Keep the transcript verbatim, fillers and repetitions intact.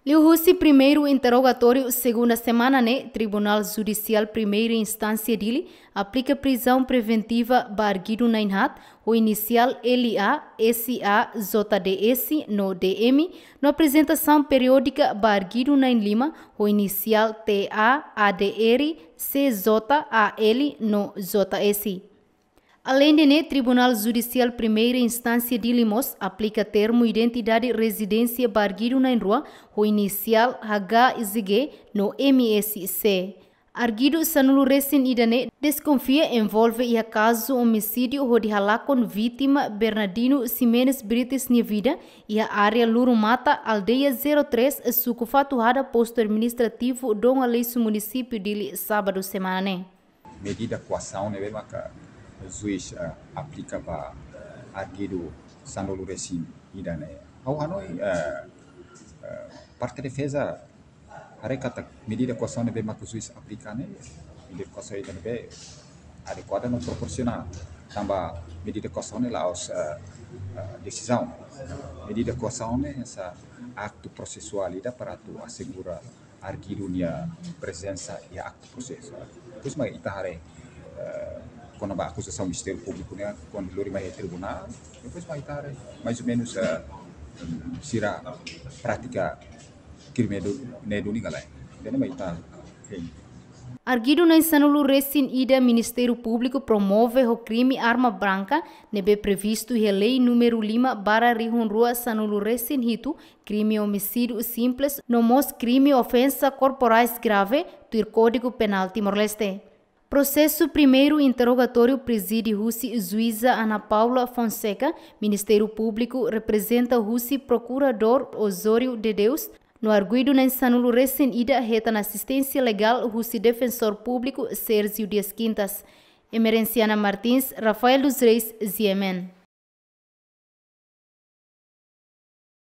Liuhusi primeiru interrogatóriu segunda semana ne'e, Tribunál Judisiál Primeira Instánsia Dili aplika prizaun preventiva ba arguidu na'in haat, ho inisiál L A, S A, J D S no D M, no aprezentasaun periódika ba arguidu na'in lima, ho inisiál T A, A D R, C J, A L no J S. Aleinde ne'e, Tribunál Judisiál Primeira Instánsia Dili mós aplika termu identidade rezidénsia ba arguidu na'in rua, ho inisiál H Z G no M S C. Arguidu sanulu-resin-ida ne'e deskonfia envolve iha kazu omisídiu hodi halakon vítima Bernardino Ximenes Brites nia vida iha área Lurumata, aldeia zero três, suku Fatuhada, postu administrativu Dom Aleixo, munisípiu Dili, sábadu semana ne'e. Medida koasaun ne'ebé maka juís, eh, aplika ba arguidu sanulu-resin-ida ne'e. Ha'u hanoin, eh, eh, parte defeza haree katak medida koasaun ne'ebé maka juís aplika ne'e, medida koasaun ida ne'ebé adekuada no proporsionál. Tanba medida koasaun ne'e la'ós, eh, eh, desizaun. Medida koasaun ne'e hanesan aktu prosesuál ida para atu asegura arguidu nia prezensa iha aktu prosesu. Depois mak ita haree, eh, kona-ba akuzasaun Ministériu Públiku ne'e, kuandu lori mai tribunál, depois mak ita haree mais ou menus, eh, sira prátika krime ne'e duni ka lae. Ida-ne'e mak ita hein. Arguidu na'in sanulu-resin-ida Ministériu Públiku promove ho krime arma branka, ne'ebé previstu iha lei númeru lima barra rihun rua sanulu-resin-hitu, krime omisídiu simples, no mós krime ofensa korporais grave, tuir Kódigu Penál Timor-Leste. Prosesu primeiru interrogatóriu prezide husi Juíza Ana Paula Fonseca, Ministériu Públiku reprezenta husi Prokuradór Osório de Deus, no arguidu na'in sanulu-resin-ida hetan asisténsia legál husi Defensór Públiku Sérgio Dias Quintas. Emerenciana Martins, Rafael dos Reis, G M N.